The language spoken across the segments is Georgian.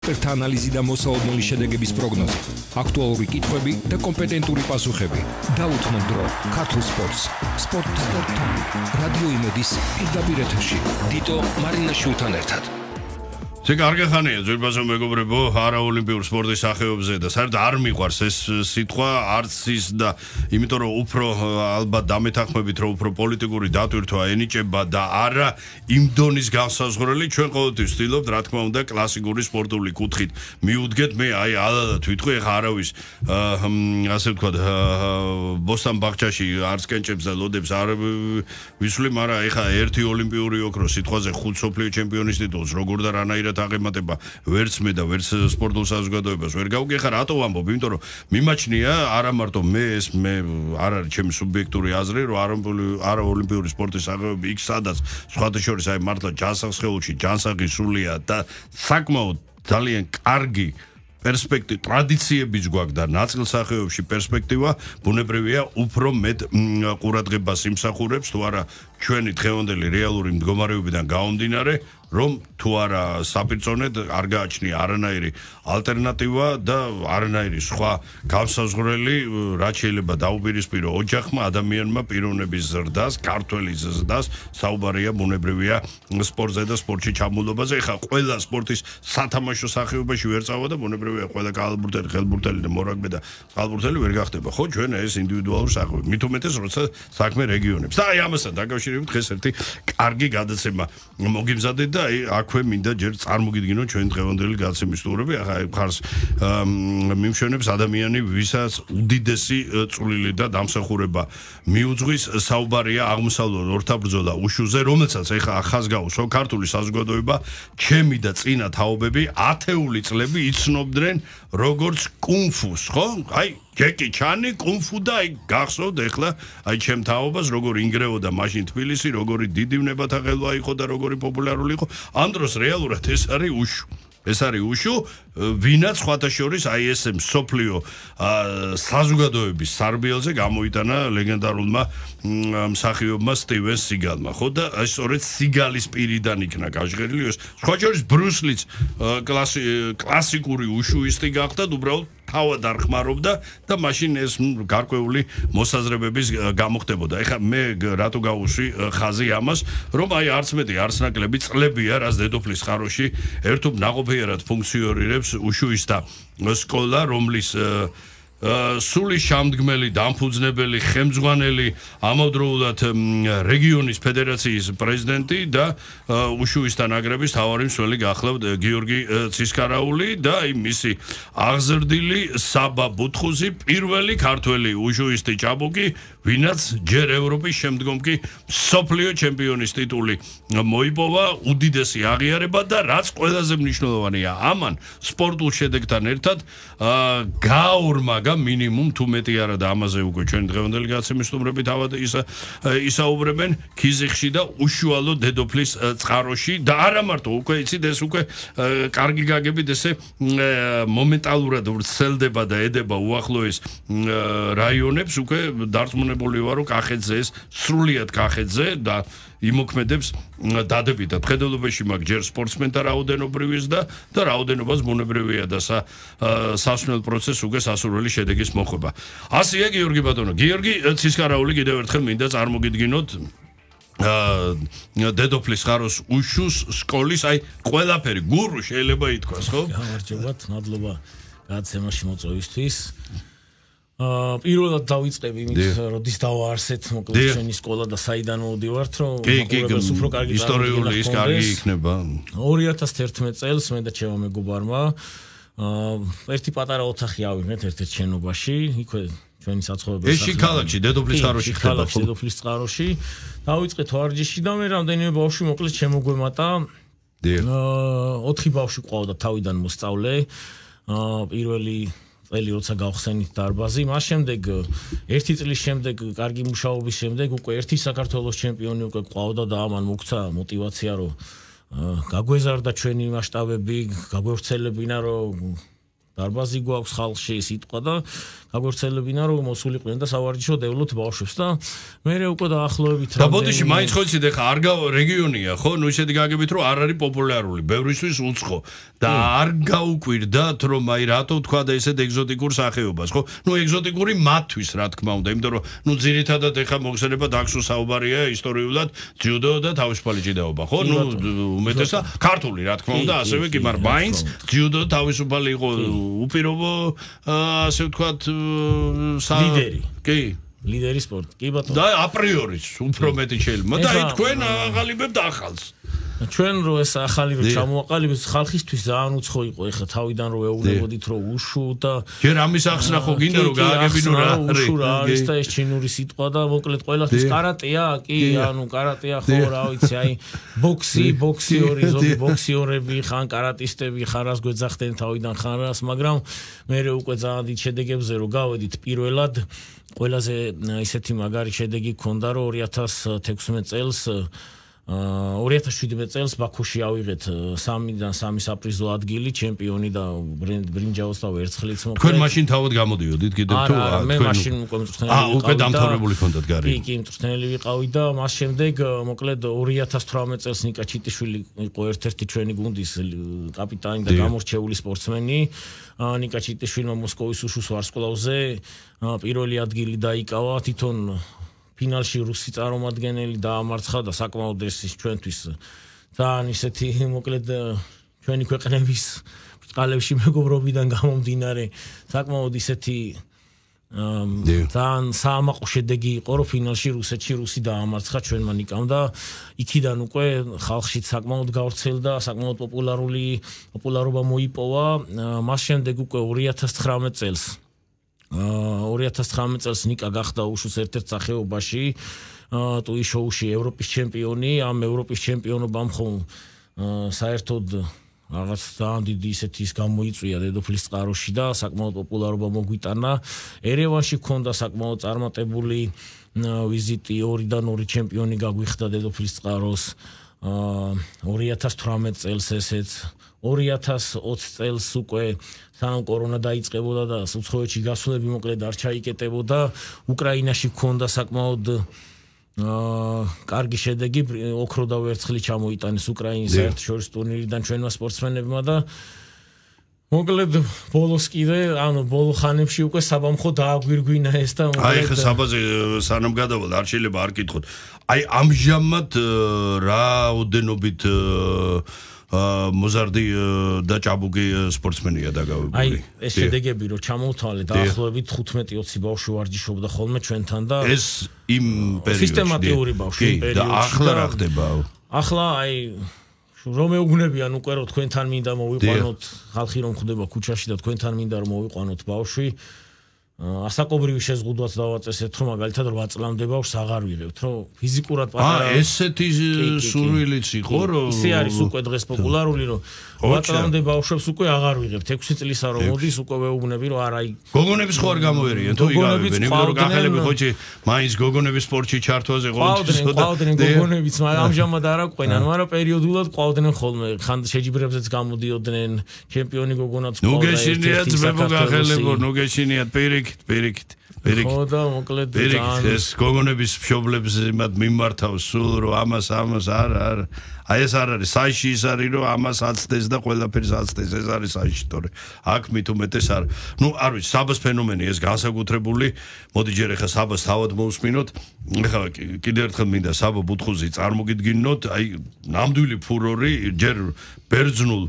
ექსპერტთა ანალიზი და მოსალოდნელი შედეგების პროგნოზი, აქტუალური კითხვები და კომპეტენტური პასუხები. დაუთმო დრო ქართულ სპორტს. სპორტ-ტაიმ. რადიო იმედის პირდაპირ ეთერში. დიტო მარინაშვილთან ერთად. კარგი ხანია ძვირფასო მეგობრებო არაოლიმპიურ სპორტის სახეობებზე და საერთოდ არ მიყვარს ეს სიტყვა არც ის და იმიტომ რომ უფრო ალბათ დამეთანხმებით რომ უფრო პოლიტიკური დატვირთვა ენიჭება და არა იმ დონის განსაზღვრელი ჩვენ ყოველთვის ვცდილობთ რა თქმა უნდა კლასიკური სპორტული კუთხით მიუდგეთ მე აი ალალად ვიტყვი ეხა არავის ასე ვთქვათ ბოსტან ბაღჩაში არც კენჭებს და ლოდებს არ ვისვლი მაგრამ ეხა ერთი ოლიმპიური ოქრო სიტყვაზე 5 სოფლიო ჩემპიონის ტიტულს როგორ და რანაირად აღემატება ვერც მე და ვერც სპორტულ საზოგადოებას ვერ გავუგი ხა რატო ვამბობ იმიტომ რომ მიმაჩნია არა მარტო მე არ არის ჩემი სუბიექტური აზრი რომ არაოლიმპიური სპორტის აღებები იქ სადაც სხვათა შორის აი მართლა ჯანსაღ სხეულში ჯანსაღი სულია და საკმაოდ ძალიან კარგი პერსპექტივა ტრადიციებიც გვაქვს და ნაწილსახეობებში პერსპექტივა ბუნებრივია უფრო მეტ ყურადღებას იმსახურებს თუ არა ჩვენი დღევანდელი რეალური მდგომარეობიდან გამომდინარე რომ თუ არა საპირწონედ არ გააჩნია არანაირი ალტერნატივა და არანაირი სხვა განსაზღვრელი რაც შეიძლება დაუპირისპირო ოჯახმა ადამიანმა პიროვნების ზრდას ქართველის ზრდას საუბარია ბუნებრივია სპორტზე და სპორტში ჩამულობაზე ეხა ყველა სპორტის სათამაშო სახეობაში ვერ წავა და ბუნებრივია ყველა კალბურტელი ხელბურტელი და მორაგბე და კალბურტელი ვერ გახდება ხო ჩვენ ეს ინდივიდუალური სახეობები მით უმეტეს როცა საქმე რეგიონებს და აი ამასთან დაკავშირებით დღეს ერთი კარგი გადაცემა მოგიმზადეთ და აი აქვე მინდა ჯერ წარმოგიდგინოთ ჩვენ დღევანდელი გაცემის სტუმრები ახლა ხარს მიმშვენებს ადამიანი ვისაც უდიდესი წვლილი და დამსახურება მიუძღვის საუბარია აღმოსავლურ ორთაბრძოლა უშუზე რომელსაც ეხლა ახასგაუსო ქართული საზოგადოება ჩემი და წინა თაობები ათეული წლები იცნობდნენ როგორც კუნფუს ხო აი ჯეკი ჩანი კუნფუ და აი გახსოვთ ეხლა აი ჩემ თაობას როგორ ინგრეოდა მაშინ თბილისი როგორი დიდი ვნებათა ხელვა იყო და როგორი პოპულარული იყო ამ დროს რეალურად ეს არის უშუ ვინაც სხვათა შორის აი ესე მსოფლიო საზოგადოების სარბიელზე გამოიტანა ლეგენდარულმა მსახიობმა სტივენ სიგალმა ხო და აი სწორედ სიგალის პირიდან იქნა გაჟღერილი ეს სხვა შორის ბრუსლიც კლასიკური უშუისტი გახდა უბრალოდ თავად არ ხმარობდა და მაშინ ეს გარკვეული მოსაზრებების გამოხდებოდა. ეხლა მე რატო გავუშვი ხაზი ამას, რომ აი არც მეტი არც ნაკლები წლებია, რაც დედოფლის ხაროში ერთობ ნაყოფიერად ფუნქციონირებს უშუისტა სკოლა, რომლის სული შამდგმელი დამფუძნებელი ხელმძღვანელი ამავდროულად რეგიონის ფედერაციის პრეზიდენტი და უშუისტა ნაკრების თავარი მსვლელი გახლავთ გიორგი ცისკარაული და აი მისი აღზრდილი საბა ბუთხუზი პირველი ქართველი უშუისტი ჭაბუკი ვინაც ჯერ ევროპის შემდგომ კი სოფლიო ჩემპიონის ტიტული მოიპოვა უდიდესი აღიარება და რაც ყველაზე მნიშვნელოვანია ამან სპორტულ შედეგთან ერთად გაორმაგა მინიმუმ თუ მეტი არა და ამაზე უკვე ჩვენ დღევანდელი გაცემის სტუმრები თავად ისაუბრებენ ქიზიხში და უშუალო დედოფლის წყაროში და არა მარტო უკვე იცით ეს უკვე კარგი გაგებით ესე მომენტალურად ვრცელდება და ედება უახლოეს რაიონებს უკვე დარწმუნებული ვარ რომ კახეთზე ეს სრულიად კახეთზე და იმოქმედებს დადებითად ხედელობაში მაგ ჯერ სპორტსმენთა რაოდენობრივის და რაოდენობას ბუნებრივია და სასწავლელ პროცესს უკვე სასურველი შედეგის მოხვება. ასეა გიორგი ბატონო. გიორგი ცისკარაული კიდევ ერთხელ მინდა წარმოგიდგინოთ დედოფლის ხაროს უშუს სკოლის აი ყველაფერი გურუ შეიძლება ითქვას ხო? გამარჯობათ, მადლობა გაცემაში მოწვევისთვის. პირველად დავიწყები იმით, როდის დავაარსეთ მოკლედ ჩვენი სკოლა და საიდან მოვდივართ, რომ მაყურებელს უფრო კარგი ისტორიული ის კარგი იქნება. 2011 წელს მე და ჩემო მეგობარმა ერთი პატარა ოთახი ავიღეთ ერთ-ერთ შენობაში, იქვე ჩვენი საცხოვრებელი ეს ქალაქში დედოფლის ხაროში ხდება. დედოფლის წყაროში დავიწყეთ ვარჯიში და მე რამდენიმე ბავშვი მოკლედ შემოგვემატა. 4 ბავშვი ყავდა თავიდან მოსწავლე. პირველი წელი როცა გავხსენით დარბაზი, მას შემდეგ ერთი წლის შემდეგ კარგი მუშაობის შემდეგ უკვე ერთი საქართველოს ჩემპიონი უკვე ყავდა და ამან მოგცა мотивация რომ გაგვეზარდა ჩვენი მასშტაბები, გაგვევრცელებინა რომ დარბაზი გვაქვს ხალხში სიტყვა და გაგორცელებინა რომ მოსულიყვნენ და სავარჯიშო დევლოთ ბავშვებს და მე უკვე დაახლოებით და ბოდიში მაინც ხო იცით ეხა არ რეგიონია ხო ნუ ისეთი გაგებით რომ არ არის პოპულარული ბევრისთვის უცხო და არ გაუკვირდათ რომ აი რატო თქვა და ესეთ ეგზოტიკურ სახეობას ხო ნუ ეგზოტიკური მათთვის რა თქმა უნდა იმიტომ რომ ნუ ძირითადად ეხა მოხსენება დაგსუ საუბარია ისტორიულად ჯუდო და თავისუფალი ჭიდაობა ხო ნუ უმეტესად ქართული რა თქმა უნდა ასევე კი მაგრამ მაინც ჯუდო თავისუფალი იყო უპირობო ასე ვთქვათ ლიდერი კი ლიდერი სპორტ კი ბატონო და აპრიორიც უფრო მეტი შეიძლება და აი თქვენ აღალიბებთ ახალს ჩვენ რო ეს ახალი ჩამოაყალიბეთ ხალხისთვის ძალიან უცხო იყო ეხლა თავიდან რო ეუბნებოდით რომ უშუ და ჯერ ამის ახსნა ხო გინდა რომ გააგებინო რა უშუ რა არის და ეს ჩინური სიტყვა და მოკლედ ყველასთვის კარატეა კი ანუ კარატეა ხო რა ვიცი აი ბოქსი ზოგი ბოქსიორები ხან კარატისტები ხარას გვეძახდნენ თავიდან ხარას მაგრამ მე უკვე ძალიან დიდ შედეგებზე რო გავედით პირველად ყველაზე ისეთი მაგარი შედეგი გქონდა რომ 2016 წელს 2017 წელს ბაქოში ავიღეთ 3-დან 3 საპრიზო ადგილი ჩემპიონი და ბრინჯაოს და ვერცხლიც მოკლედ თქვენ მაშინ თავად გამოდიოდით კიდევ თუ მე მაშინ უკვე მწვრთნელი უკვე დამთავრებული ქონდათ გარი კი მწვრთნელი ვიყავი და მას შემდეგ მოკლედ 2018 წელს ნიკა ჩიტიშვილი იყო ერთ-ერთი ჩვენი გუნდის კაპიტანი და გამორჩეული სპორტსმენი ნიკა ჩიტიშვილმა მოსკოვის უშუს ვარსკვლავზე პირველი ადგილი დაიკავა თვითონ ფინალში რუსი წარმომადგენელი დაამარცხა და საკმაოდ ეს ჩვენთვის ძალიან ისეთი მოკლედ ჩვენი ქვეყნების ბრწყალებში მეგობრობიდან გამომდინარე საკმაოდ ისეთი ძალიან საამაყო შედეგი იყო რომ ფინალში რუსი დაამარცხა ჩვენმა ნიკამ და იქიდან უკვე ხალხში საკმაოდ გავრცელდა საკმაოდ პოპულარობა მოიპოვა მას შემდეგ უკვე 2019 წელს 2019 წელს ნიკა გახდა უშუს ერთ-ერთ სახეობაში ტუი შოუში ევროპის ჩემპიონი ამ ევროპის ჩემპიონობამ ხომ საერთოდ რაღაც ძალიან დიდი ისეთი ის გამოიწვია დედოფლის წყაროში და საკმაოდ პოპულარობა მოგვიტანა ერევანში ქონდა საკმაოდ წარმატებული ვიზიტი 2-დან 2 ჩემპიონი გაგვიხდა დედოფლის წყაროს 2018 წელს ესეც 2020 წელს უკვე სანამ კორონა დაიწყებოდა და უცხოეთში გასვლები მოკლედ არ ჩაიკეტებოდა უკრაინაში ქონდა საკმაოდ კარგი შედეგი ოქრო და ვერცხლი ჩამოიტანეს უკრაინის საერთაშორისო ტურნირიდან ჩვენმა სპორტსმენებმა და მოკლედ ბოლოს კიდე ანუ ბოლო ხანებში უკვე საბამხო დააგვირგვინა ეს და მოკლედ აი ხა საბაზე სანამ გადავალ არ შეიძლება არ კითხოთ აი ამჟამად რაოდენობით მოზარდი და ჭაბუკი სპორტსმენია დაგავებული. აი ეს შედეგები რო ჩამოვთვალე დაახლოებით 15-20 ბავშვი ვარჯიშობდა ხოლმე ჩვენთან და ეს იმ პერიოდში სისტემატიური ბავშვი პერიოდში. და ახლა რა ხდება? ახლა აი რომ ეუბნებიან უკვე რომ თქვენთან მინდა მოვიყვანოთ ხალხი რომ ხდება ქუჩაში და თქვენთან მინდა რომ მოვიყვანოთ ბავშვი ასაკობრივი შეზღუდვაც დავაწესეთ რომ მაგალითად 8 წლამდე ბავშვს აღარ ვიღებთ რომ ფიზიკურად პატარა ესეთი სურვილიც იყო რომ ისე არის უკვე დღეს პოპულარული რომ 8 წლამდე ბავშვებს უკვე აღარ ვიღებთ 6 წლისა რომ მოდის უკვე ვეუბნები რომ არა გოგონების ხო არ გამოერიან თუ იგავებენ იმიტომ რომ გახელები ხოჭი მაინც გოგონების სპორტში ჩართვაზე ყავდნენ გოგონებიც ამჟამად არ აყვენან მაგრამ პერიოდულად ყავდნენ ხოლმე ხან შეჯიბრებზეც გამოდიოდნენ ჩემპიონი გოგონაც ყავდა ნუ გეშინიათ ძმებო გახელებო ნუ გეშინიათ პირიქით ხო და მოკლედ ძალიან ეს გოგონების მშობლებს იმათ მიმართავს სულ რომ ამას არ აი ეს არ არის საიში ის არის რომ ამას აცდეს და ყველაფერს აცდეს ეს არის საიში თორე აქ მით უმეტეს არ ნუ არ ვიცი საბას ფენომენი ეს განსაკუთრებული მოდი ჯერ ახლა საბას თავად მოусმინოთ ახლა კიდევ ერთხელ მინდა საბა ბუთხუზი წარმოგიდგინოთ აი ნამდვილი ფურორი ჯერ ბერძნულ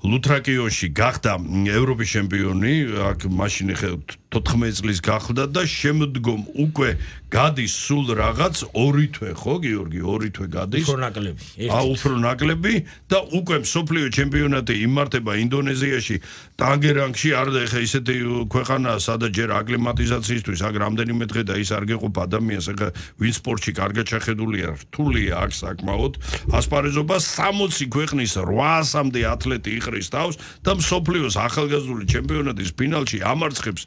ლუთრაკიონში გახდა ევროპის ჩემპიონი აქ მაშინ ახლა 14 წლის გახლდა და შემდგომ უკვე გადის სულ რაღაც 2 თვე ხო გიორგი 2 თვე გადის უფრო ნაკლები და უკვე მსოფლიო ჩემპიონატი იმართება ინდონეზიაში ტანგერანგში არ და ახლა ისეთი ქვეყანაა სადაც ჯერ აკლიმატიზაციისთვის აქ რამდენიმე დღე და ის არ გეყოფ ადამიანს ახლა ვინ სპორტში კარგად შეხედულია რთულია აქ საკმაოდ ასპარეზობა 60 ქვეყნის 800-მდე ათლეტი იყრის თავს და მსოფლიოს ახალგაზრდული ჩემპიონატის ფინალში ამარცხებს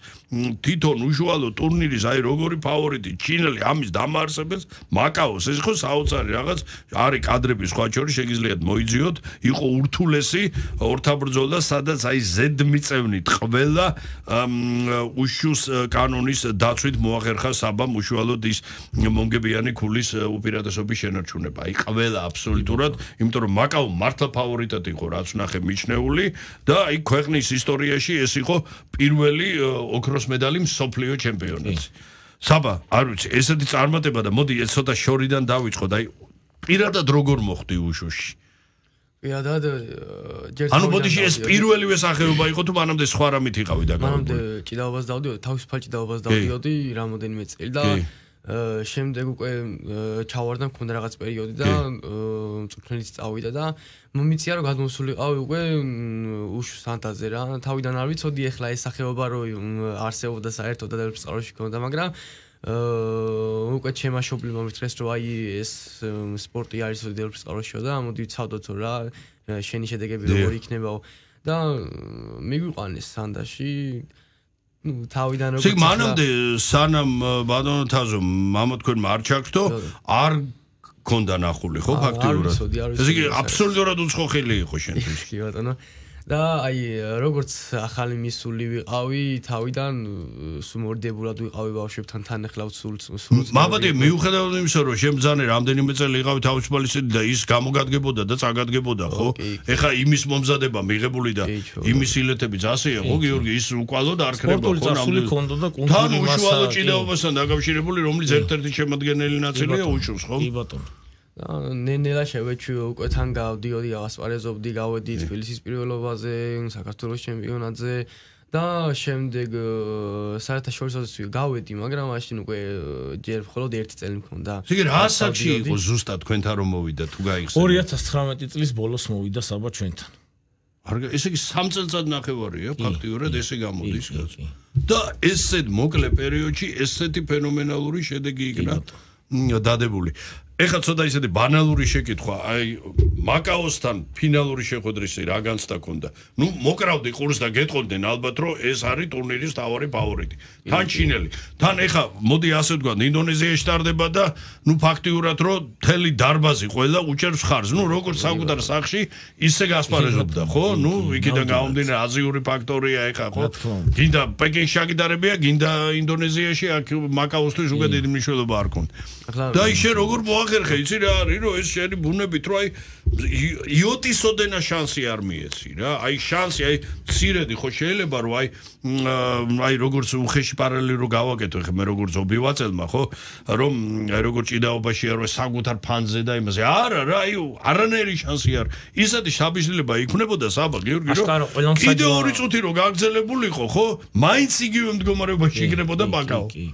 თვითონ უშუალო ტურნირის აი როგორი ფავორიტი ჩინელი ამის დამაარსებელს მაკაოს ეს ხო საოცარი რაღაც არის კადრები სხვა შორის შეგიძლიათ მოიძიოთ იყო ურთულესი ორთაბრძოლა სადაც აი ზედმიწევნით ყველა უშუს კანონის დაცვით მოახერხა საბამ უშუალოდ ის მომგებიანი ქულის უპირატესობის შენარჩუნება აი ყველა აბსოლუტურად იმიტომ რომ მაკაო მართლა ფავორიტად იყო რაც ნახე მიჩნეული და აი ქვეყნის ისტორიაში ეს იყო პირველი ოქროს медали მსოფლიო ჩემპიონატი. საბა, არ ვიცი, ესეთი წარმატება და მოდი ეს ცოტა შორიდან დავიწყოთ, აი პირადად როგორ მოხდი უშუში? პირადად ანუ ბოდიში ეს პირველივე სახეობა იყო თუ მანამდე სხვა რამით იყავი და მანამდე ჭიდაობას დავდიოდი, თავისუფალ ჭიდაობას დავდიოდი რამოდენიმე წელი და შემდეგ უკვე ჩავარდა მქონდა რაღაც პერიოდი და მწვრთნელიც წავიდა და მომიცია რომ გადმოსულიყავი უკვე უშუს ანტაზე რა თავიდან არ ვიცოდი ეხლა ეს სახეობა რომ არსებობდა საერთოდ და წყაროში ქონდა მაგრამ უკვე ჩემმა მშობლებმა მითხრეს რომ აი ეს სპორტი არის დელფის წყაროშიო და მოდი ვცავდოთ რა შენი შედეგები როგორი იქნებაო და მიგვიყვანეს სანდაში თავიდან როგორ მანამდე სანამ ბატონო თაზო მამა თქვენმა არ ჩაგდო არ გქონდა ნახული ხო ფაქტიურად ესე იგი აბსოლუტურად უცხოხელი იყო შენთვის კი ბატონო და აი როგორც ახალი მისული ვიყავი თავიდან სუმორდებულად ვიყავი ბავშვებთან თან ეხლა სულ მაბადე მიუხედავად იმისა რომ შემძანე რამდენიმე წელი იყავი თავისუფალისები და ის გამოგადგებოდა და წაგადგებოდა ხო ეხლა იმის მომზადება მიღებული და იმის ილეთები ძასია ხო გიორგი ის უკვალოდ არ ქრება ხო ნამდვილად თან უშუალო ჭიდაობასთან დაკავშირებული რომლის ერთ-ერთი შემადგენელი ნაწილია უშუს ხო კი ბატონო ნენელა შევეჩვი უკვე თან გავდიოდი ავასპარეზობდი გავედი თბილისის პირველობაზე საქართველოს ჩემპიონატზე და შემდეგ საერთაშორისო გავედი მაგრამ მაშინ უკვე ჯერ მხოლოდ ერთი წელი მქონდა იგი რა ასაკში იყო ზუსტად თქვენთან რომ მოვიდა თუ გაიხსენებთ 2019 წლის ბოლოს მოვიდა საბა ჩვენთან ესე იგი 3 წელიწად ნახევარია ფაქტიურად ესე გამოდის და ესეთ მოკლე პერიოდში ესეთი ფენომენალური შედეგი იქნა დადებული ეხლა ცოტა ისეთი ბანალური შეკითხვა, აი მაკაოსთან ფინალური შეხვედრისი რა განცდა ქონდა. ნუ მოკრავდი ყურს და გეტყოდნენ ალბათ რომ ეს არის ტურნირის თავარი ფავორიტი. თან ჩინელი. თან ეხლა მოდი ასე ვთქვა, ინდონეზიაში ტარდება და ნუ ფაქტიურად რომ მთელი დარბაზი ყველა უჭერს ხარს. ნუ როგორც საკუთარ სახში ისე გასპარეზობდა, ხო? ნუ იქიდან გამომდინარე აზიური ფაქტორია ეხლა, ხო? გინდა პეკინში აკიდარებია, გინდა ინდონეზიაში აქ მაკაოსთვის უკვე დიდი მნიშვნელობა არ ქონდა. და ის შე როგორ ხერხე იცი რა არის რომ ეს შენი ბუნებით რომ აი იოტისოდენა შანსი არ მიეცი რა აი შანსი აი ცირედი ხო შეიძლება რომ აი როგორც უხეში პარალელი რო გავაკეთო ხე მე როგორც ობივაწელმა ხო რომ აი როგორც ჭიდაობაში არ ვარ საკუთარ ფანზე და იმაზე არა რა აი არანაირი შანსი არ ისეთი შაბიშლება იქნებოდა საბა გიორგი რომ კიდე 2 წუთი რო გაგრძელებულიყო ხო მაინც იგივე მდგომარეობაში იქნებოდა მაკაო კი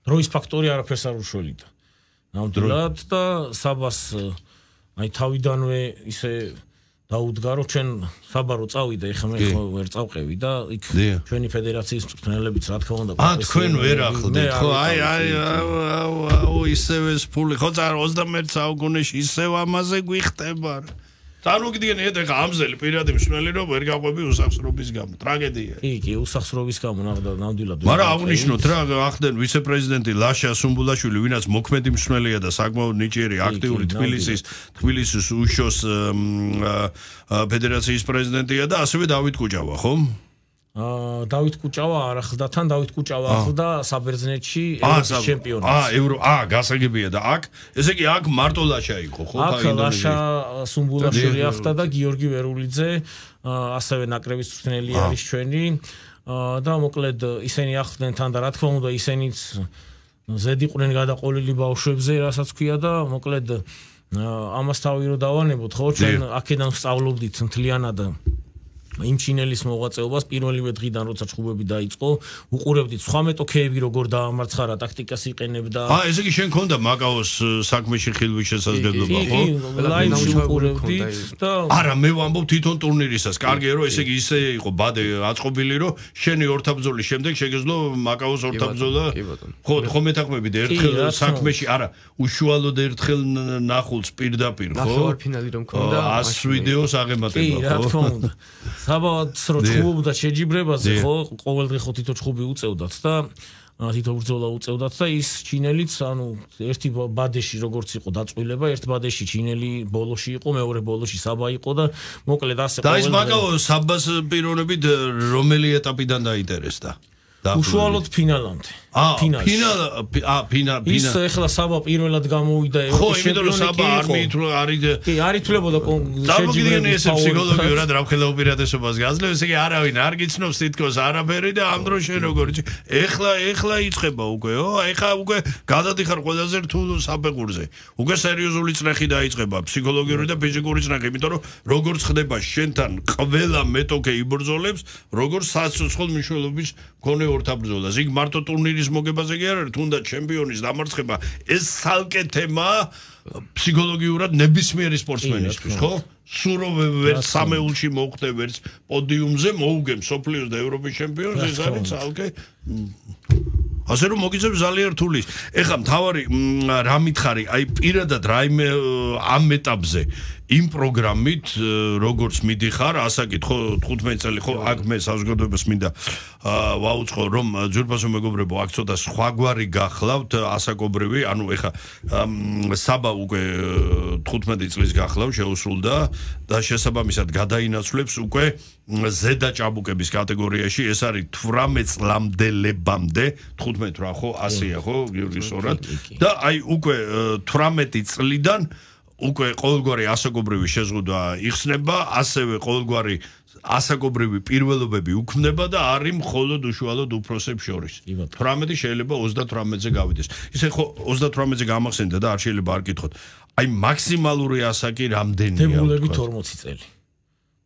დროის ფაქტორი არაფერს არ უშველიდა ნამდვილად და საბას აი თავიდანვე ისე დაუდგა რომ ჩვენ საბა რო წავიდა ეხლა მე ხო ვერ წავყევი და იქ ჩვენი ფედერაციის მწვრთნელებიც რა თქმა უნდა თქვენ ვერ ახლდეთ ხო აი ისევე ფული ხო 21 საუკუნეში ისევ ამაზე გვიხტება წარმოგიდგენ ეხლა ამზელი პირადი მსმელი რომ ვერ გაყვები უსახსრობის გამო ტრაგედია კი უსახსრობის გამო ნამდვილად მაგრამ აღნიშნოთ რა ახდენ ვიცე-პრეზიდენტი ლაშა სუმბულაშვილი ვინაც მოქმედი მსმელია და საკმაოდ ნიჭიერი აქტიური თბილისის უშოს ფედერაციის პრეზიდენტია და ასევე დავით კუჭავა ხო დავით კუჭავა არ ახლდა თან დავით კუჭავა ახლდა საბერძნეთში ევროპის ჩემპიონატს გასაგებია და აქ ესე იგი აქ მარტო ლაშა იყო ხო აქ ლაშა სუმბულაშვილი ახლდა და გიორგი ვერულიძე ასევე ნაკრების მწვრთნელი არის ჩვენი და მოკლედ ისინი ახლდნენ თან და რა თქმა უნდა ისინიც ზედიყვნენ გადაყოლილი ბავშვებზე რასაც ქვია და მოკლედ ამას თავი რო დავანებოთ ხო ჩვენ აქედან ვსწავლობდით მთლიანად იმ ჩინელის მოღვაწეობას პირველივე დღიდან როცა ჩხუბები დაიწყო უყურებდით სხვა მეტოქეები როგორ დაამარცხა ტაქტიკას იყენებდა ესე იგი შენ ქონდა მაკაოს საქმეში ხილვის შესაძლებლობა ხო ლაივში უყურებდით და არა მე ვამბობ თვითონ ტურნირისას კარგია რომ ესე იგი ისე იყო ბადე აწყობილი რომ შენი ორთაბრძოლის შემდეგ შეგეძლო მაკაოს ორთაბრძოლა ხო ხო მეთანხმებით ერთხელ საქმეში არა უშუალოდ ერთხელ ნახულს პირდაპირ ხო ნახევარ ფინალი რომ ქონდა 100 ვიდეოს აღემატება ხო კი რა თქმა უნდა საბათ რო ჩხუბობდა შეჯიბრებაზე ხო ყოველდღე ხო თითო ჩხუბი უწევდათ და თითო ბრძოლა უწევდათ და ის ჩინელიც ანუ ერთი ბადეში როგორც იყო დაწყვილება ერთ ბადეში ჩინელი ბოლოში იყო მეორე ბოლოში საბა იყო და მოკლედ ასე და ის მაგალო საბას პიროვნებით რომელი ეტაპიდან დაინტერესდა უშუალოდ ფინალამდე ფინალ ის ეხლა საბა პირველად გამოვიდა ევროპის ჩემპიონი კი არ ითვლებოდა შეჯიბრებები ეს ფსიქოლოგიურად რამხელა უპირატესობას გაძლევს იგი არავინ არ გიცნობს თითქოს არაფერი და ამ დროს შენ როგორ ეხლა იწყება უკვე ეხლა უკვე გადადიხარ ყველაზე რთულ საფეხურზე უკვე სერიოზული წნეხი დაიწყება ფსიქოლოგიური და ფიზიკური წნეხი იმიტომ რომ როგორც ხდება შენთან ყველა მეტოქე იბრძოლებს როგორც საცოცხლო მნიშვნელობის მქონე ორთაბრძოლას იქ მარტო ტურნირის მოგებაზე კი არ არის თუნდაც ჩემპიონის დამარცხება ეს ცალკე თემაა ფსიქოლოგიურად ნებისმიერი სპორტსმენისთვის ხო სულ რომ ვერ სამეულში მოხვდე ვერც პოდიუმზე მოუგე მსოფლიოს და ევროპის ჩემპიონს ეს არის ცალკე ასე რომ მოგიწევს ძალიან რთული ეხლა მთავარი რა მითხარი აი პირადად რაიმე ამ ეტაპზე იმ პროგრამით როგორც მიდიხარ ასაკით ხო 15 წელი ხო აქ მე საზოგადოებას მინდა ვაუწყო რომ ძვირფასო მეგობრებო აქ ცოტა სხვაგვარი გახლავთ ასაკობრივი ანუ ეხლა საბა უკვე 15 წლის გახლავ შეუსრულდა და შესაბამისად გადაინაცვლებს უკვე ზედა ჭაბუკების კატეგორიაში ეს არის 18 წლამდელებამდე 15 რა ხო 100-ია ხო გიორგი სწორად და აი უკვე 18 წლიდან უკვე ყოველგვარი ასაკობრივი შეზღუდვა იხსნება, ასევე ყოველგვარი ასაკობრივი პირველობები უქმდება და არის მხოლოდ უშუალოდ უფროსებს შორის. 18 შეიძლება 38-ზე გავიდეს. ისე ხო 38-ზე გამახსენდა და არ შეიძლება არ კითხოთ. აი მაქსიმალური ასაკი რამდენია? დებულებით 40 წელი.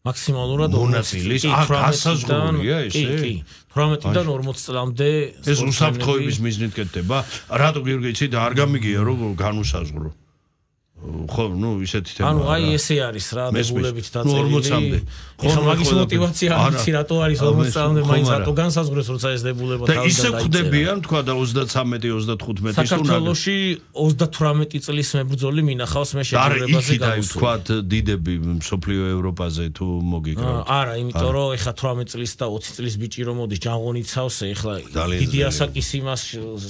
მაქსიმალურად 40 წელი. გასაზღვრულია ესე? კი. 18-დან 40 წლამდე ეს უსაფრთხოების მიზნით კეთდება. რატო გიორგი იცით არ გამიგია რომ განუსაზღვრო? ხო, ნუ ისეთი თემა. ანუ აი ესე არის რა დებულებით დაწერილი. ეხლა მაგის мотиваცია არის რატო არის 40 წლამდე მაინც რატო განსაზღვრეს როცა ეს დებულება თავიდან დაიწერა. და ისე ხდებიან თქვა და 33-35 ის თუ საქართველოში 38 წლის მებრძოლი მინახავს მე შეჯიბრებაზე გავუსვა. თქვა დიდები მსოფლიო ევროპაზე თუ მოგიკრავთ. არა, იმიტომ რომ ეხლა 18 წლის და 20 წლის ბიჭი რომ მოდის ჯანღონიცავს ეხლა დიდი ასაკის იმას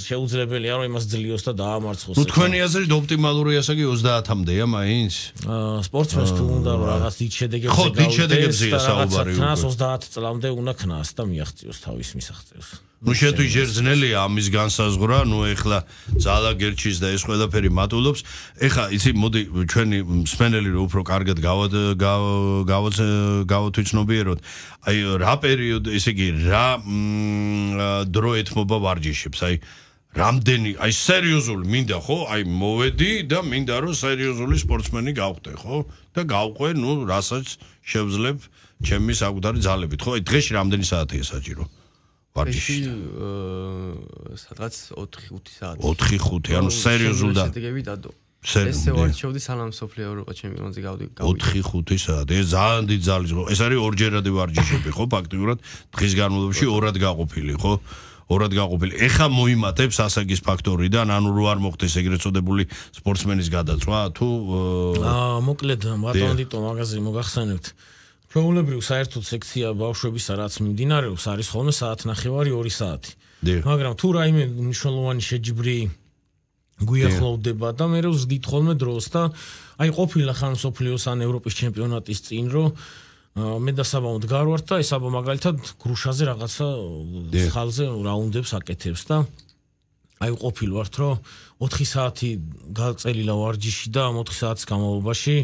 შეუძლებელია რომ იმას ძლიოს და დაამარცხოს. ნუ თქვენი აზრით ოპტიმალური ასაკი 30-მდეა მაინც? სპორტსმენს თუ უნდა რომ რაღაც დიდ შედეგებზე გავიდეს და საუბარი უკვე 30 წლამდე უნდა ქნას და მიაღწიოს თავის მისაღწევს. ნუ შეთვის ჯერ ძნელია ამის განსაზღვრა, ნუ ეხლა ძალა გერჩის და ეს ყველაფერი მატულობს. ეხლა იცი მოდი ჩვენი მსმენელი რო უფრო კარგად გავათვიცნობიეროთ. აი რა პერიოდი, ესე იგი რა დრო ეთმობა ვარჯიშებს, აი რამდენი აი სერიოზული მინდა ხო აი მოვედი და მინდა რომ სერიოზული სპორტსმენი გავხდე ხო და გავყვე ნუ რასაც შევძლებ ჩემი საკუთარი ძალებით ხო აი დღეში რამდენი საათია საჭირო ვარჯიში სადღაც 4-5 საათი 4-5 ანუ სერიოზული და შედეგები დადო ესე ვარჩევდი სანამ სოფლიო ევროპა ჩემპიონატზე გავდი 4-5 საათი ეს ძალიან დიდი ძალის ხო ეს არის ორჯერადი ვარჯიშები ხო ფაქტიურად დღის განმავლობაში ორად გაყოფილი ხო ორად გაყოფილი. ეხა მოიმატებს ასაკის ფაქტორიდან, ანუ რო არ მოხდეს ეგრეთ წოდებული სპორტსმენის გადაწვა, თუ მოკლედ მარტო მაგაზე მოგახსენებთ. ჩვეულებრივ საერთოდ სექცია ბავშვებისა რაც მიმდინარეობს, არის ხოლმე საათნახევარი 2 საათი. მაგრამ თუ რაიმე მნიშვნელოვანი შეჯიბრი გვიახლოვდება და მე ვზდით ხოლმე დროს და აი ყოფილა ხან სოფლიოს ან ევროპის ჩემპიონატის წინ რო მე და საბა ვდგარ ვართ და ეს საბა მაგალითად გრუშაზე რაღაცა ხალზე რაუნდებს აკეთებს და აი ყოფილ ვართ რომ 4 საათი გაწელილა ვარჯიში და 4 საათის განმავლობაში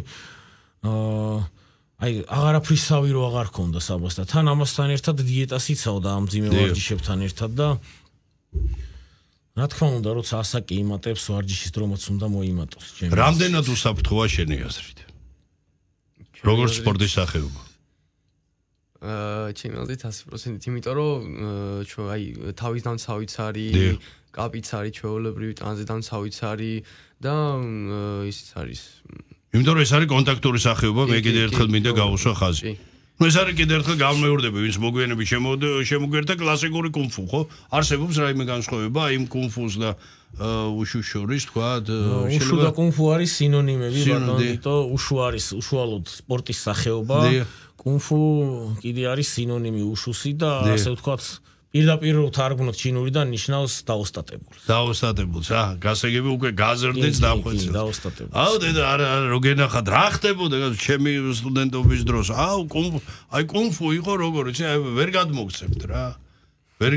აი აღარაფრისავი რო აღარ ქონდა საბას და თან ამასთან ერთად დიეტას იცავდა ამ ძიმე ვარჯიშებთან ერთად და რა თქმა უნდა როცა ასაკი იმატებს ვარჯიშის დრომაც უნდა მოიმატოს ჩემს რამდენად უსაფრთხოა შენი აზრით როგორც სპორტის სახეობა ჩემი აზრით 100%, იმიტომ რომ ჩვენ აი თავის დამცავიც არის, კაპიც არის ჩვეულებრივი ტანზე დამცავიც არის და ისიც არის. იმიტომ რომ ეს არის კონტაქტური სახეობა, მე კიდევ ერთხელ მინდა გავუსვა ხაზი. ნუ ეს არის კიდევ ერთხელ გამეორდები, ვინც მოგვიანებით შემოგვერთა კლასიკური კუნფუ, ხო? არსებობს რაიმე განსხვავება იმ კუნფუს და უშუს შორის, თქვა, უშუ და კუნფუ არის სინონიმები, ბატონო, უშუ არის უშუალოდ სპორტის სახეობა. კუნფუ კიდე არის სინონიმი უშუსი და ასე ვთქვათ პირდაპირ თარგმნოთ ჩინურიდან ნიშნავს დაოსტატებულს. დაოსტატებულს, გასაგები უკვე გაზრდით დახვეწილ. დაოსტატებულს. აუ დედა არა რო გენახათ რა ხდებოდა ჩემი სტუდენტობის დროს. აუ კუნფუ იყო როგორ იცი, ვერ გადმოგცემთ რა. ვერ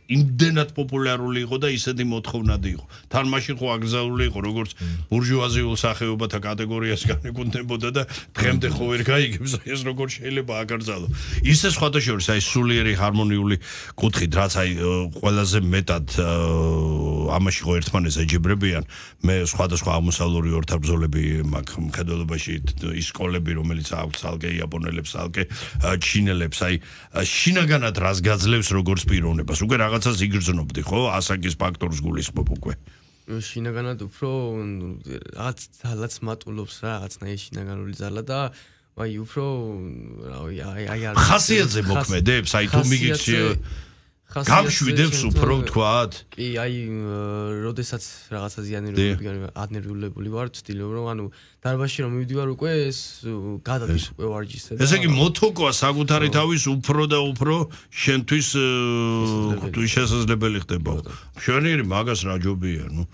იმდენად პოპულარული იყო და ისეთი მოთხოვნადი იყო. თან მაშინ ხო აკრძალული იყო როგორც ბურჟუაზიულ სახეობათა კატეგორიას განეკუთვნებოდა და დღემდე ხო ვერ გაიგებს ეს როგორ შეიძლება აკრძალო. ისე სხვათა შორის აი სულიერი ჰარმონიული კუთხით რაც აი ყველაზე მეტად ამაში ხო ერთმანეთს ეჯიბრებიან მე სხვადასხვა აღმოსავლური ორთაბრძოლები მაქვს მხედველობაში ის სკოლები რომელიც აქვს ალკე იაპონელებს ალკე ჩინელებს აი შინაგანად რას გაძლევს როგორც პიროვნებას უკვე რაღაცას იგრძნობდი ხო ასაკის ფაქტორს გულისხმობ უკვე შინაგანად უფრო რაღაც მატულობს რა რაღაცნაირი შინაგანული ძალა და აი უფრო აი ხასიათზე მოქმედებს აი თუ მიგიქცი გამშვიდებს უფრო თქვათ კი აი როდესაც რაღაცა ადნერვირებული ვარ ვცდილობ რომ ანუ დარბაზში რომ მივდივარ უკვე ეს გადადის უკვე ვარჯიშზე ესე იგი მოთოკვა საკუთარი თავის უფრო და უფრო შენთვის შესაძლებელი ხდება მშვენიერი მაგას რა ჯობია ნუ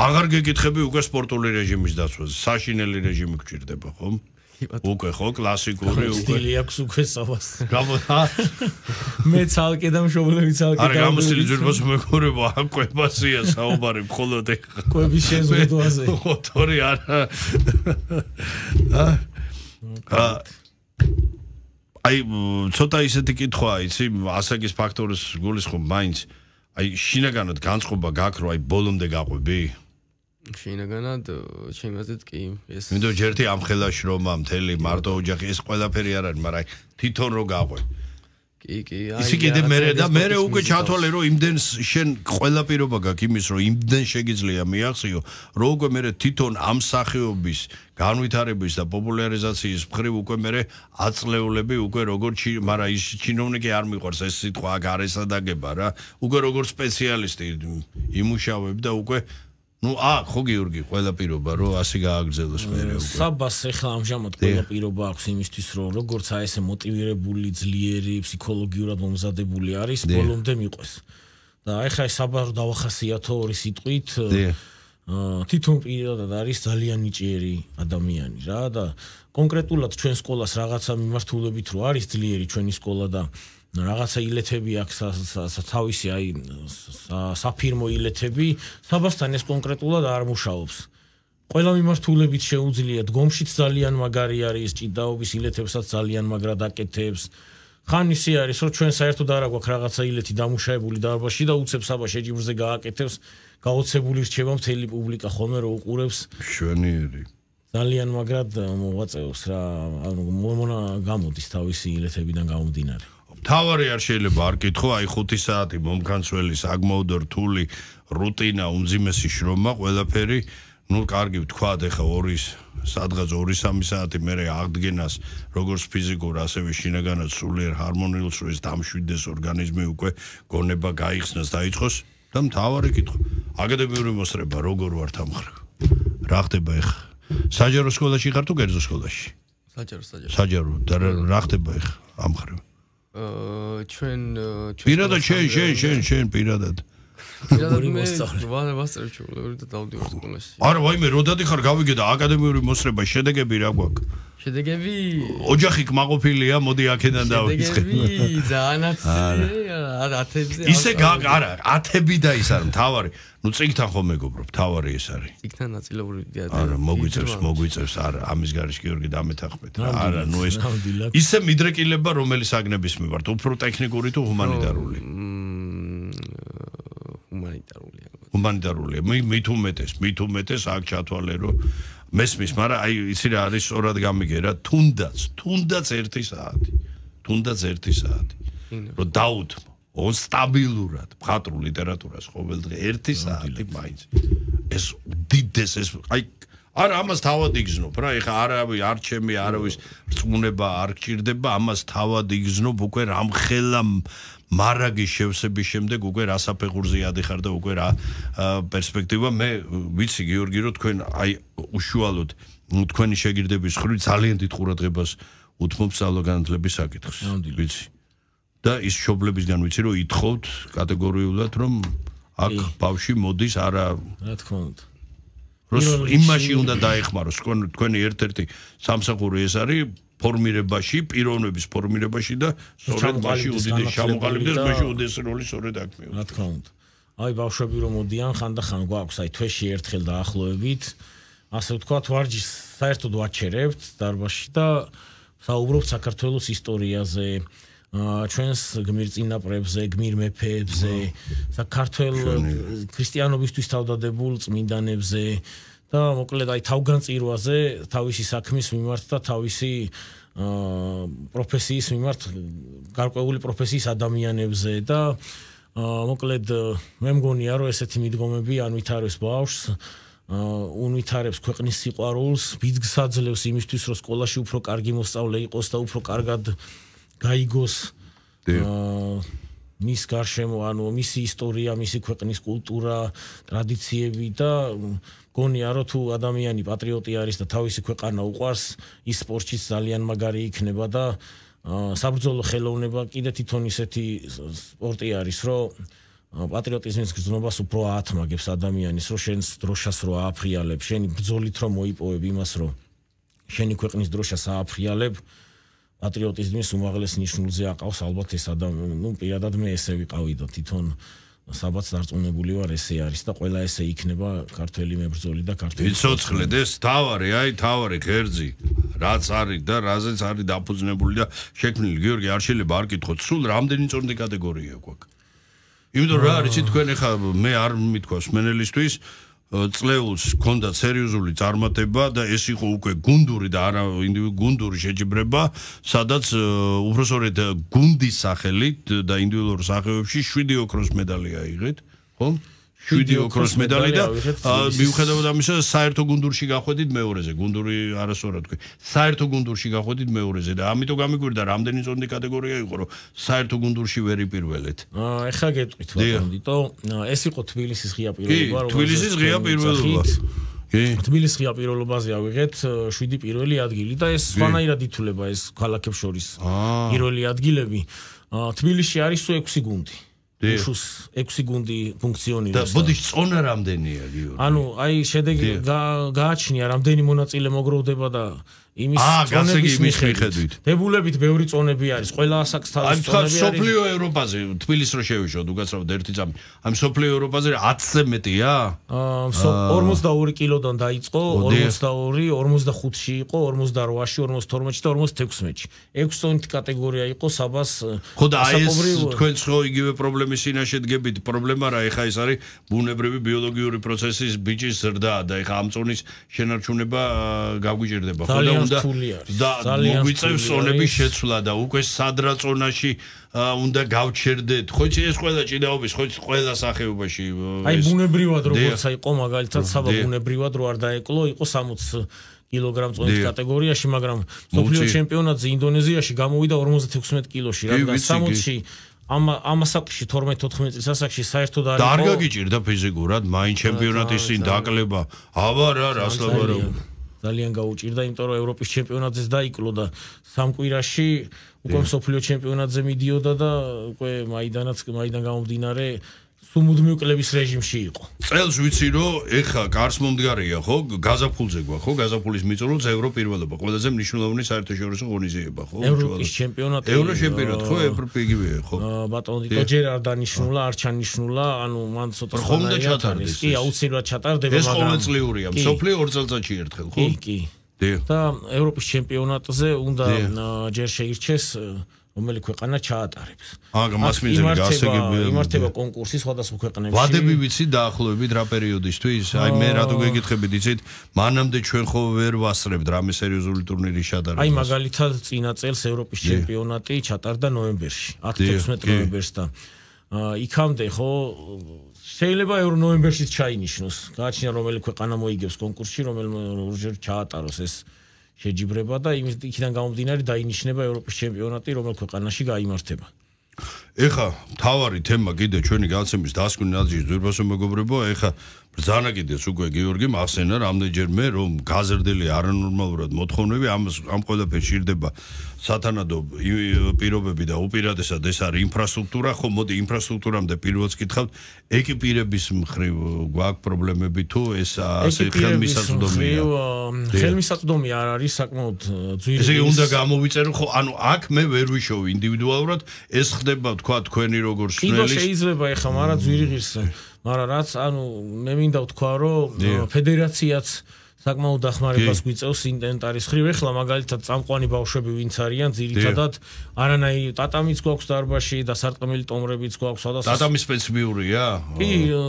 აღარ გეკითხები უკვე სპორტული რეჟიმის დაცვაზე საშინელი რეჟიმი გჭირდება ხომ უკვე ხო კლასიკური უკვე სტილი აქვს უკვე საბას მე ცალკე და მშობლები ცალკე არა გამოსილი ძვირფას მეგობრებო აკვებასია საუბარი მხოლოდ კვების შეზღუდვაზე ოთორი არა აი ცოტა ისეთი კითხვაა იცი ასაკის ფაქტორის გულისხმობ მაინც აი შინაგანად განწყობა გაქვს რომ აი ბოლომდე გაყვები შინაგანად შემაზეთ კი ეს მინდო ჯერთი ამ ხელაში რომ მთელი მარტო ოჯახი ეს ყველაფერი არ არის მაგრამ თვითონ რო გაყვე კი ისი კიდე მე უკვე ჩათვალე რომ იმდენ შენ ყველა პირობა გაქვს იმის რომ იმდენ შეგიძლია მიახციო რომ უკვე მე თვითონ ამ სახეობის განვითარების და პოპულარიზაციის მხრივ უკვე მე აწლეულები უკვე როგორ მაგრამ ის ჩინოვნიკი არ მიყვარს ეს სიტყვა გარესა დაგება რა უკვე როგორ სპეციალისტი იმუშავებ და უკვე ну ხო გიორგი ყველა პირობა რომ ასე გააგრძელოს მე უკვე საბას ეხლა ამჟამად ყველა პირობა აქვს იმისთვის რომ როგორც აი ესე მოტივირებული ძლიერი ფსიქოლოგიურად მომზადებული არის ბოლომდე მიყვეს და ეხლა ეს საბას დავახასიათო ორი სიტყვით თვითონ პირადად არის ძალიან ნიჭიერი ადამიანი რა და კონკრეტულად ჩვენ სკოლას რაღაცა მიმართულებით რო არის ძლიერი ჩვენი სკოლა და რაღაცა ილეთები აქვს თავისი აი საფირმო ილეთები საბასთან ეს კონკრეტულად არ მუშაობს ყველა მიმართულებით შეუძლია დგომშიც ძალიან მაგარი არის ჭიდაობის ილეთებსაც ძალიან მაგრად აკეთებს ხან ისე არის რომ ჩვენ საერთოდ არ აქვს რაღაცა ილეთი დამუშავებული დარბაზში და უცებ საბა შეჯიბრზე გააკეთებს გაოცებული რჩება მთელი პუბლიკა ხოლმე რო უყურებს მშვენიერი ძალიან მაგრად მოვაწევს რა ანუ მოմონა გამოდის თავისი ილეთებიდან გამომდინარე თავარი არ შეიძლება არ კითხო აი 5 საათი მომქანცველი საგმოვდო რთული რუტინა უმძიმესი შრომა ყველაფერი ну კარგი ვთქვათ ეხა სადღაც 2-3 საათი მე აღდგენას როგორც ფიზიკურ ასევე შინაგანად სულიერ ჰარმონიულს რო ეს დამშვიდეს ორგანიზმი უკვე გონება გაიხსნას დაიწყოს და მთავარი კითხვა აკადემიური მოსწრება როგორ ვართ ამ ხარ რა ხდება ეხა საჯარო სკოლაში ხარ თუ კერძო სკოლაში საჯარო და რა ხდება ეხა ამ ხარ ჩვენ პირადად შენ პირადად ვასწრებ ჩულები და დავდივარ სკოლაში არა ვაიმე როდადი ხარ გავიგე და აკადემიური მოსწრება შედეგები რა გვაქვს შედეგები ოჯახი კმაყოფილია მოდი აქედან დავიწყე შედეგები ძალიან ათებზე ისე არა ათები და ის არის მთავარი ну წიგთან ხომ მეგობრო მთავარი ეს არის წიგთან ნაწილობრივ არა მოგვიწევს არა ამის გარეშე გიორგი დამეთანხმეთ არა ну ეს ისე მიდრეკილება რომელი საგნების მიმართ უფრო ტექნიკური თუ ჰუმანიტარული ჰუმანიტარულია მით უმეტეს აქ ჩათვალე რომ მესმის მაგრამ აი იცი რა არის სწორად გამიგე რა თუნდაც 1 საათი რომ დაუთმო სტაბილურად მხატვრულ ლიტერატურას ყოველდღე 1 საათი მაინც ეს დიდეს ეს აი არა ამას თავად იგზნობ რა ეხა არავის არ ჩემი არავის რწმუნება არ გჭირდება ამას თავად იგზნობ უკვე რამხელა მარაგის შევსების შემდეგ უკვე რა საფეხურზე ადიხარ და უკვე რა პერსპექტივა მე ვიცი გიორგი რომ თქვენ აი უშუალოდ თქვენი შეგირდების ხრივ ძალიან დიდ ყურადღებას უთმობ სწავლაგანათლების საკითხს. ვიცი. და ის მშობლებისგან ვიცი რომ ითხოვთ კატეგორიულად რომ აქ ბავშვი მოდის არა რა თქმა უნდა. იმაში უნდა დაეხმაროს თქვენი ერთ-ერთი სამსახური ეს არის ფორმირებაში, პიროვნების ფორმირებაში და სწორედ მაშინ უდიდეს ჩამოყალიბდეს მაშინ უდიდეს როლი სწორედ აქ მიიღოს. რა თქმა უნდა. აი ბავშვები რომ მოდიან ხანდახან გვაქვს აი თვეში ერთხელ დაახლოებით ასე ვთქვათ ვარჯიშს საერთოდ ვაჩერებთ დარბაზში და საუბრობთ საქართველოს ისტორიაზე ჩვენს გმირ წინაპრებზე, გმირ მეფეებზე, საქართველოს ქრისტიანობისთვის თავდადებულ წმინდანებზე და მოკლედ აი თავგანწირვაზე, თავისი საქმის მიმართ და თავისი პროფესიის მიმართ, გარკვეული პროფესიის ადამიანებზე და მოკლედ მე მგონია რომ ესეთი მიდგომები ან ვითარებს ბავშვს, უნვითარებს ქვეყნის სიყვარულს, ბიძგს აძლევს იმისთვის რომ სკოლაში უფრო კარგი მოსწავლე იყოს და უფრო კარგად გაიგოს მის გარშემო, ანუ მისი ისტორია, მისი ქვეყნის კულტურა, ტრადიციები და გონია რომ თუ ადამიანი პატრიოტი არის და თავისი ქვეყანა უყვარს, ის სპორტშიც ძალიან მაგარი იქნება და საბრძოლო ხელოვნება კიდე თვითონ ისეთი სპორტი არის, რომ პატრიოტიზმის გრძნობას უფრო აათმაგებს ადამიანის, რომ შენს დროშას რო ააფრიალებ, შენი ბრძოლით რომ მოიპოვებ იმას, რომ შენი ქვეყნის დროშას ააფრიალებ, პატრიოტიზმის უმაღლეს ნიშნულზე აყავს ალბათ ეს ადამიანი, ну, პირადად მე ესე ვიყავი და თვითონ საბაც დარწმუნებული ვარ ესე არის და ყველა ესე იქნება ქართველი მებრძოლი და ქართველი. ვიცოცხლედ ეს თავარი, აი თავარი ღერძი, რაც არის და რაზეც არის დაფუძნებული და შექმნილი. გიორგი არ შეიძლება არ კითხოთ, სულ რამდენი წონდი კატეგორია გვაქვს. იმიტომ რა არის თქვენ ახლა მე არ მithქვას მენელისთვის წლეულს ჰქონდა სერიოზული წარმატება და ეს იყო უკვე გუნდური და არა გუნდური შეჯიბრება, სადაც უბრალოდ გუნდის სახელით და ინდივიდუალურ სახეობებში 7 ოქროს მედალი აიღეთ, ხო? 7 ოქროს მედალი და მიუხედავად ამისა საერთო გუნდურში გახვედით მეორეზე, გუნდური არასწორად თქვი. საერთო გუნდურში გახვედით მეორეზე და ამიტომ გამიგვირდა რამდენი წონდი კატეგორია იყო, რომ საერთო გუნდურში ვერ იპირველეთ. ეხლა გეტყვით ბატონიტო, ეს იყო თბილისის ღია პიროვნება, რომ თბილისის ღია პიროვნება. თბილისის ღია პიროვნებაზე ავიღეთ 7 პირველი ადგილი და ეს სხვანაირად ითვლება ეს ქალაქებს შორის პირველი ადგილები. თბილისში არის 6 გუნდი. 6 გუნდი ფუნქციონირებს. და ბოდიში წონა რამდენია გიორგი? ანუ აი შედეგი გააჩნია რამდენი მონაწილე მოგროვდება და იმის წონების მიხედვით. დებულებით ბევრი წონები არის, ყველა ასაკს თავისი წონები არის. სოფლიო ევროპაზე თბილისს რო შევიშოთ, უკაცრავად ერთი წამი. ამ სოფლიო ევროპაზე 10-ზე მეტია? 42 კილოდან დაიწყო, 42, 45-ში იყო, 48-ში, 52-ში და 56-ში. 6 წონით კატეგორია იყო საბას. ხო და აი ეს თქვენ ხო იგივე პრობლემის წინაშე დგებით. პრობლემა რა, ეხა ეს არის ბუნებრივი ბიოლოგიური პროცესის ბიჭის ზრდა და ეხა ამ წონის შენარჩუნება გაგვიჭირდება. ხო და და მოგვიწევს წონების შეცვლა და უკვე სადრა წონაში უნდა გავჩერდეთ. ხო იცი ეს ყველა ჭიდაობის, ხო იცი ყველა სახეობაში. აი ბუნებრივად როგორც იყო მაგალითად საბა ბუნებრივად რო არ დაეკლო, იყო 60 კილოგრამ წონის კატეგორიაში, მაგრამ სოფლიო ჩემპიონატზე ინდონეზიაში გამოვიდა 56 კილოში, რადგან 60-ში ამ ასაკში 12-14 წლის ასაკში საერთოდ არ იყო. და არ გაგიჭირდა ფიზიკურად, მაინ ჩემპიონატის წინ დაკლება. აბა რა, რას ლაპარაკობ. ძალიან გაუჭირდა, იმიტომ რომ ევროპის ჩემპიონატზეც დაიკლო და სამ კვირაში უკვე სოფლიო ჩემპიონატზე მიდიოდა და უკვე მაიდან გამომდინარე სუმუდმივ კლების რეჟიმში იყო. წელს ვიცი რომ ეხა კარს მომდგარია, ხო? გაზაფხულზე გვა, ხო? გაზაფხულის მიწურულს ევროპირველობა, ყველაზე მნიშვნელოვანი საერთაშორისო ღონისძიება, ხო? ევროპის ჩემპიონატი. ევროჩემპიონატი, ხო? ევროპიგივეა, ხო? ბატონო დიტო ჯერ არ დანიშნულა, არ ჩანიშნულა, ანუ მან ცოტა ხომ და ჩატარდეს. კი, აუცილებლად ჩატარდება, მაგრამ ეს ყოველწლიურია, სოფლიო 2 წელიწადში ერთხელ, ხო? კი. და ევროპის ჩემპიონატზე უნდა ჯერ შეირჩეს რომელი ქვეყანა ჩაატარებს. მას მიზანი გასაგებია. იმართება კონკურსი სხვადასხვა ქვეყნებში. ვადები ვიცი დაახლოებით რა პერიოდისთვის? აი მე რატო გეკითხებით, იცით? მანამდე ჩვენ ხო ვერ ვასწრებთ რამე სერიოზული ტურნირის ჩატარებას. აი მაგალითად წინა წელს ევროპის ჩემპიონატი ჩატარდა ნოემბერში, 10-16 ნოემბერს და იქამდე ხო შეიძლება ნოემბერშიც ჩაინიშნოს. გააჩნია რომელი ქვეყანა მოიგებს კონკურსში, რომელმე ჩაატაროს ეს შეჯიბრება და იქიდან გამომდინარე დაინიშნება ევროპის ჩემპიონატი, რომელ ქვეყანაში გაიმართება. ეხა თავარი თემა კიდე ჩვენი გადაცემის დასკვნის ნაძიის ძვირფასო მეგობრებო, ეხა ბრძანა კიდეც უკვე გიორგი მახსენა რამდენჯერმე რომ გაზრდილი არანორმალურად მოთხოვნები ამ ყველაფერს შირდება სათანადო პირობები და უპირატესად ეს არის ინფრასტრუქტურა ხო მოდი ინფრასტრუქტურამდე პირველს გითხავთ ეკიპირების მხრივ გვაქვს პრობლემები თუ ეს ასე ხელმისაწვდომია ხელმისაწვდომი არ არის საკმაოდ ძვირი ესე იგი უნდა გამოვიწერო ხო ანუ აქ მე ვერ ვიშოვ ინდივიდუალურად ეს ხდება თქვა თქვენი როგორ სნელი შეიძლება ეხა მაგრამ ძვირი ღირსა მაგრამ რაც ანუ მე მინდა ვთქვა რომ ფედერაციაც საკმაოდ დახმარებას გვიწევს ინვენტარის ხრივ ეხლა მაგალითად წამყვანი ბავშვები ვინც არიან ძირითადად არანაირი ტატამიც გვაქვს დარბაზში და სარტყმელი ტომრებიც გვაქვს სადაც ტატამი სპეციფიურია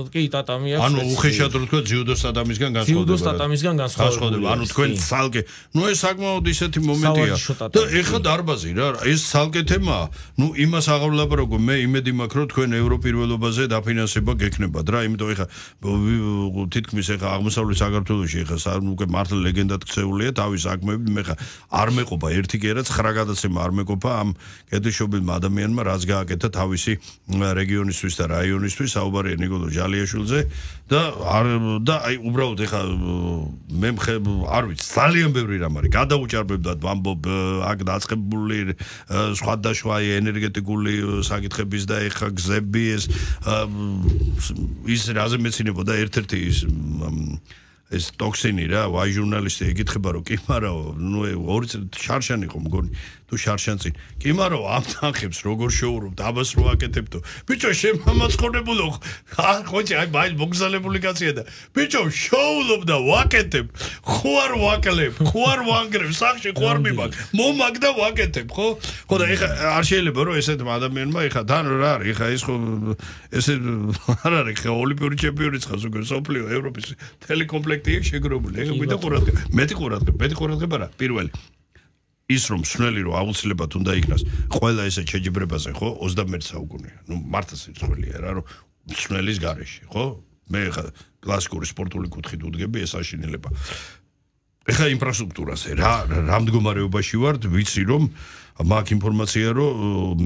კი ტატამი აქვს ანუ უხეშად რო თქვა ჯიუდოს ტატამისგან განსხვავდება ჯიუდოს ტატამისგან განსხვავდება ანუ თქვენ ცალკე ნუ ეს საკმაოდ ისეთი მომენტია და ეხლა დარბაზი რა ეს ცალკე თემაა ნუ იმას აღარ ვლაპარაკო მე იმედი მაქვს რომ თქვენ ევროპირველობაზე დაფინანსება გექნებათ რა იმიტომ ეხლა თითქმის ეხლა აღმოსავლეთ საქართველოში ეხლა უკვე მართლა ლეგენდად ქცეულია თავის საქმეები მე ხა არ მეყოფა ერთი კი არა 9 გადაცემა არ მეყოფა ამ კეთილშობილმა ადამიანმა რაც გააკეთა თავისი რეგიონისთვის და რაიონისთვის საუბარია ნიკოლო ჯალიაშვილზე და აი უბრალოდ ეხა მე არ ვიცი ძალიან ბევრი რამ არის გადაუჭარბებდათ ვამბობ აქ დაწყებული სხვადასხვა ენერგეტიკული საკითხების და ეხა გზები ის რაზე მეცინებოდა ერთ-ერთი ეს ტოქსინი რა ვაი ჟურნალისტი ეკითხება რომ კი მარაო ნუ ორი შარშანი ხო მგონი თუ შარშანწინ კი მარაო ამ თანხებს როგორ შოურობ დაბას რო აკეთებდო ბიჭო შემამაცხონებულო ხოჭი აი ბაი მოგზალებული კაცია და ბიჭო შოულობ და ვაკეთებ ხო არ ვაკლებ ხო არ ვანგრევ სახში ხო არ მიმაგ მომაგ და ვაკეთებ ხო და ეხა არ შეიძლება რომ ესეთ ადამიანმა ეხა თან რა არის ეხა ეს ხო ესე არ არის ხა ოლიმპიური ჩემპიონიც ხარ ზოგადად სოფლიო ევროპის ტელეკომპლექტი შეგროვებული ეხა გვიდა ყურადღება მეტი ყურადღება რა პირველი ის რომ სნელი რომ აუცილებლად უნდა იქნას ყველა ესე შეჯიბრებაზე ხო 21 საუკუნეა ნუ მართლა სიძველეა რა რომ სნელის გარეშე ხო მე ხა კლასიკური სპორტული კუთხით უდგები ეს აშინელება ეხა ინფრასტრუქტურაზე რა მდგომარეობაში ვართ ვიცი რომ მაქვს ინფორმაცია რომ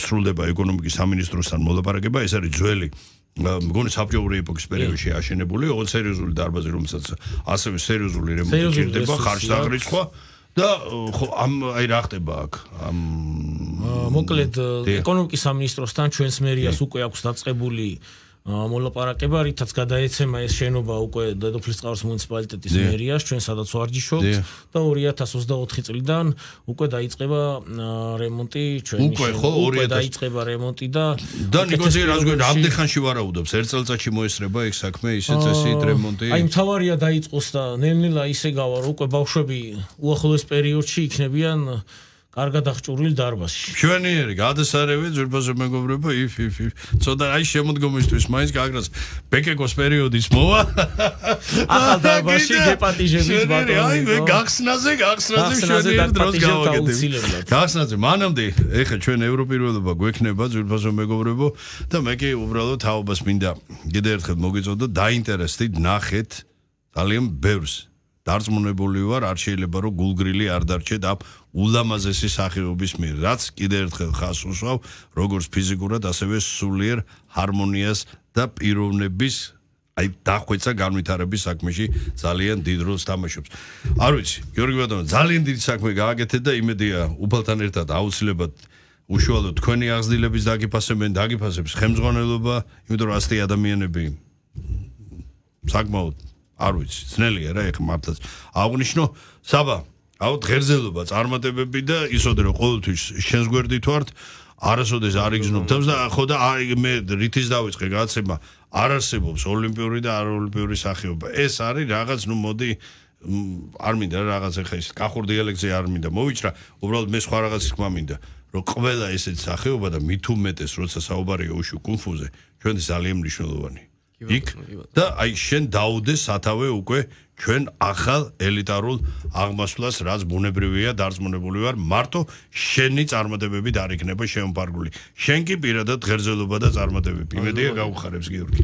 სრულდება ეკონომიკის სამინისტროსთან მოლაპარაკება ეს არის ძველი მგონი საბჭოური ეპოქის პერიოდში აშენებული ოღონდ სერიოზული დარბაზი რომელსაც ასევე სერიოზული რემონტი ჭირდება ხარჯ-დაღრიცხვა და ხო აი რა ხდება აქ მოკლედ ეკონომიკის სამინისტროსთან ჩვენს მერიას უკვე აქვს დაწყებული მოლაპარაკება რითაც გადაეცემა ეს შენობა უკვე დედოფლისწყაროს მუნიციპალიტეტის მერიას ჩვენ სადაც ვარჯიშობთ და 2024 წლიდან უკვე დაიწყება რემონტი ჩვენი უკვე დაიწყება რემონტი და ნიკოზი რას გვენ რამდენ ხანში ვარაუდობს ერთ წელიწადში მოესწრება ეგ საქმე ისე წესით რემონტი აი მთავარია დაიწყოს და ნელ-ნელა ისე გავა უკვე ბავშვები უახლოეს პერიოდში იქნებიან კარგად აღჭურვილ დარბაზში. ჩვენიერი გადასარევი ძვირფასო მეგობრებო ცოტა აი შემოდგომისთვის მაინც გაგრას ბეკეკოს პერიოდის მოვა. ახალ დარბაზში გეპატიჟებით ბატონო. აი მე გახსნაზე ჩვენიერ დროს გავაკეთებ. გახსნაზე მანამდე ეხა ჩვენ ევროპირველობა გვექნება ძვირფასო მეგობრებო და მე კი უბრალოდ თაობას მინდა კიდე ერთხელ მოგეწოდო დაინტერესდით ნახეთ ძალიან ბევრს. დარწმუნებული ვარ არ შეიძლება რომ გულგრილი არ დარჩეთ ამ ულამაზესი სახეობის მიერ რაც კიდე ერთხელ ხას უსვავ როგორც ფიზიკურად ასევე სულიერ ჰარმონიას და პიროვნების აი დახვეწა განვითარების საქმეში ძალიან დიდ როლს თამაშობს. არ ვიცი გიორგი ბატონო ძალიან დიდი საქმე გააკეთეთ და იმედია უფალთან ერთად აუცილებლად უშუალოდ თქვენი აღზრდილების დაგიფასებს ხელმძღვანელობა იმიტომ რომ ასეთი ადამიანები საკმაოდ არ ვიცი, ძნელია რა ეხა მართლაც. აღნიშნო საბა, აუთ ღერძელობა, წარმატებები და ისოდე რომ ყოველთვის შენს გვერდით ვართ, არასოდეს არ იგზნობ თავს და ხო და მე რითიც დავიწყე გაცემა, არ არსებობს ოლიმპიური და არაოლიმპიური სახეობა. ეს არის რაღაც, ნუ მოდი არ მინდა რაღაც ეხა ის კახურ დიალექტზე არ მინდა მოვიჭრა, უბრალოდ მე სხვა რაღაცის თქმა მინდა, რომ ყველა ესეთი სახეობა და მით უმეტეს როცა საუბარია უშუ კუნფუზე, ჩვენ ძალიან მნიშვნელოვანია. იქ და აი შენ დაუდე სათავე უკვე ჩვენ ახალ ელიტარულ აღმასვლას რაც ბუნებრივია დარწმუნებული ვარ მარტო შენი წარმატებები არ იქნება შემოფარგლული შენ კი პირადად ღერძელობა და წარმატებები იმედია გაუხარებს გიორგი